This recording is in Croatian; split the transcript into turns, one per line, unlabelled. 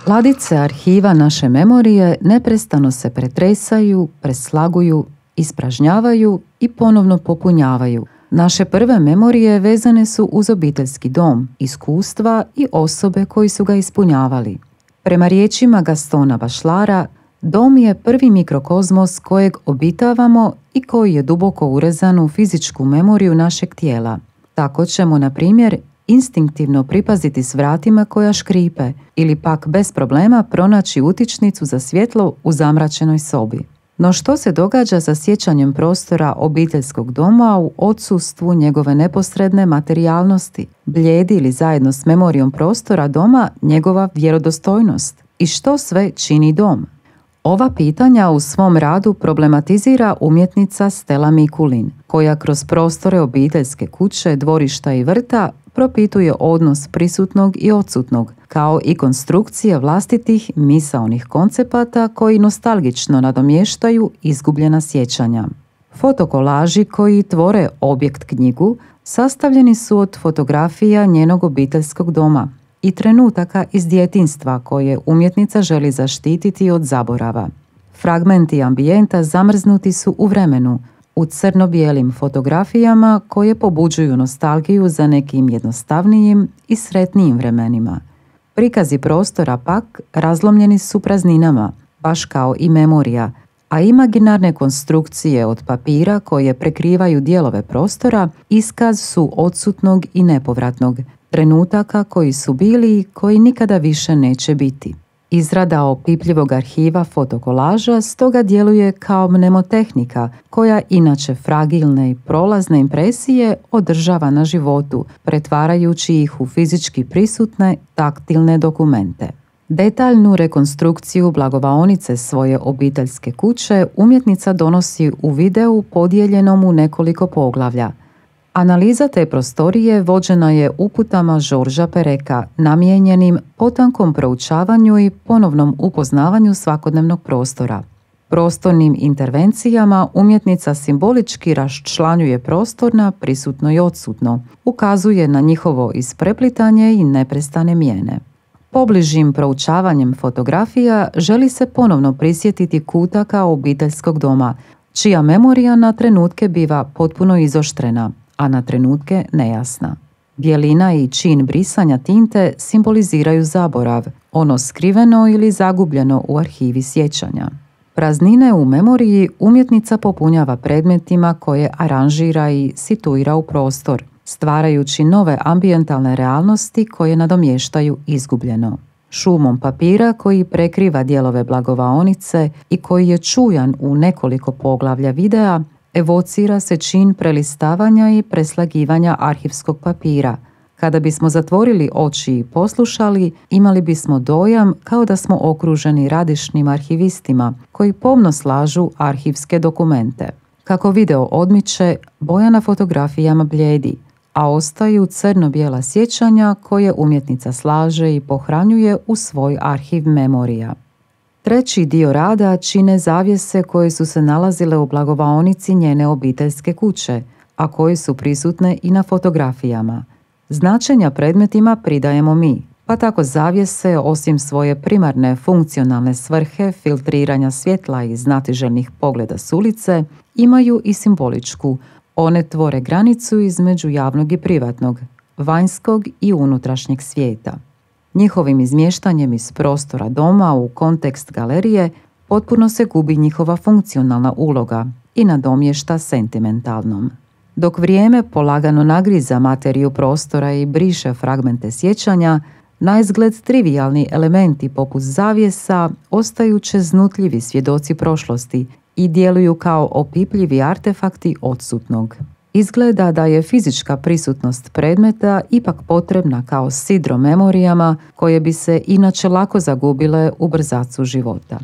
Ladice arhiva naše memorije neprestano se pretresaju, preslaguju, ispražnjavaju i ponovno popunjavaju. Naše prve memorije vezane su uz obiteljski dom, iskustva i osobe koji su ga ispunjavali. Prema riječima Gastona Bachellara, dom je prvi mikrokozmos kojeg obitavamo i koji je duboko urezan u fizičku memoriju našeg tijela. Tako ćemo, na primjer, instinktivno pripaziti s vratima koja škripe ili pak bez problema pronaći utičnicu za svjetlo u zamračenoj sobi. No što se događa sa sjećanjem prostora obiteljskog doma u odsustvu njegove neposredne materijalnosti? Blijedi li zajedno s memorijom prostora doma njegova vjerodostojnost? I što sve čini dom? Ova pitanja u svom radu problematizira umjetnica Stella Mikulin, koja kroz prostore obiteljske kuće, dvorišta i vrta propituje odnos prisutnog i odsutnog, kao i konstrukcije vlastitih misaonih koncepata koji nostalgično nadomještaju izgubljena sjećanja. Fotokolaži koji tvore objekt knjigu sastavljeni su od fotografija njenog obiteljskog doma i trenutaka iz djetinjstva koje umjetnica želi zaštititi od zaborava. Fragmenti ambijenta zamrznuti su u vremenu, u crno-bijelim fotografijama koje pobuđuju nostalgiju za nekim jednostavnijim i sretnijim vremenima. Prikazi prostora pak razlomljeni su prazninama, baš kao i memorija, a imaginarne konstrukcije od papira koje prekrivaju dijelove prostora iskaz su odsutnog i nepovratnog, trenutaka koji su bili i koji nikada više neće biti. Izrada opipljivog arhiva fotokolaža stoga djeluje kao mnemotehnika koja inače fragilne i prolazne impresije održava na životu, pretvarajući ih u fizički prisutne, taktilne dokumente. Detaljnu rekonstrukciju blagovaonice svoje obiteljske kuće umjetnica donosi u videu podijeljenom u nekoliko poglavlja. Analiza te prostorije vođena je uputama Georgesa Pereka, namijenjenim potankom proučavanju i ponovnom upoznavanju svakodnevnog prostora. Prostornim intervencijama umjetnica simbolički raščlanjuje prostor na prisutno i odsutno, ukazuje na njihovo ispreplitanje i neprestane mijene. Pobližim proučavanjem fotografija želi se ponovno prisjetiti kutaka obiteljskog doma, čija memorija na trenutke biva potpuno izoštrena, a na trenutke nejasna. Bijelina i čin brisanja tinte simboliziraju zaborav, ono skriveno ili zagubljeno u arhivi sjećanja. Praznine u memoriji umjetnica popunjava predmetima koje aranžira i situira u prostor, stvarajući nove ambijentalne realnosti koje nadomještaju izgubljeno. Šumom papira koji prekriva dijelove blagovaonice i koji je čujan u nekoliko poglavlja videa, evocira se čin prelistavanja i preslagivanja arhivskog papira. Kada bismo zatvorili oči i poslušali, imali bismo dojam kao da smo okruženi radišnim arhivistima koji pomno slažu arhivske dokumente. Kako video odmiče, boja na fotografijama blijedi, a ostaju crno-bijela sjećanja koje umjetnica slaže i pohranjuje u svoj arhiv memorija. Treći dio rada čine zavjese koje su se nalazile u blagovaonici njene obiteljske kuće, a koje su prisutne i na fotografijama. Značenja predmetima pridajemo mi, pa tako zavjese, osim svoje primarne funkcionalne svrhe filtriranja svjetla i znatiželjnih pogleda s ulice, imaju i simboličku. One tvore granicu između javnog i privatnog, vanjskog i unutrašnjeg svijeta. Njihovim izmještanjem iz prostora doma u kontekst galerije potpuno se gubi njihova funkcionalna uloga i nadomješta sentimentalnom. Dok vrijeme polagano nagriza materiju prostora i briše fragmente sjećanja, naizgled trivijalni elementi poput zavjesa ostaju čeznutljivi svjedoci prošlosti i djeluju kao opipljivi artefakti odsutnog. Izgleda da je fizička prisutnost predmeta ipak potrebna kao sidro memorijama koje bi se inače lako zagubile u brzacu života.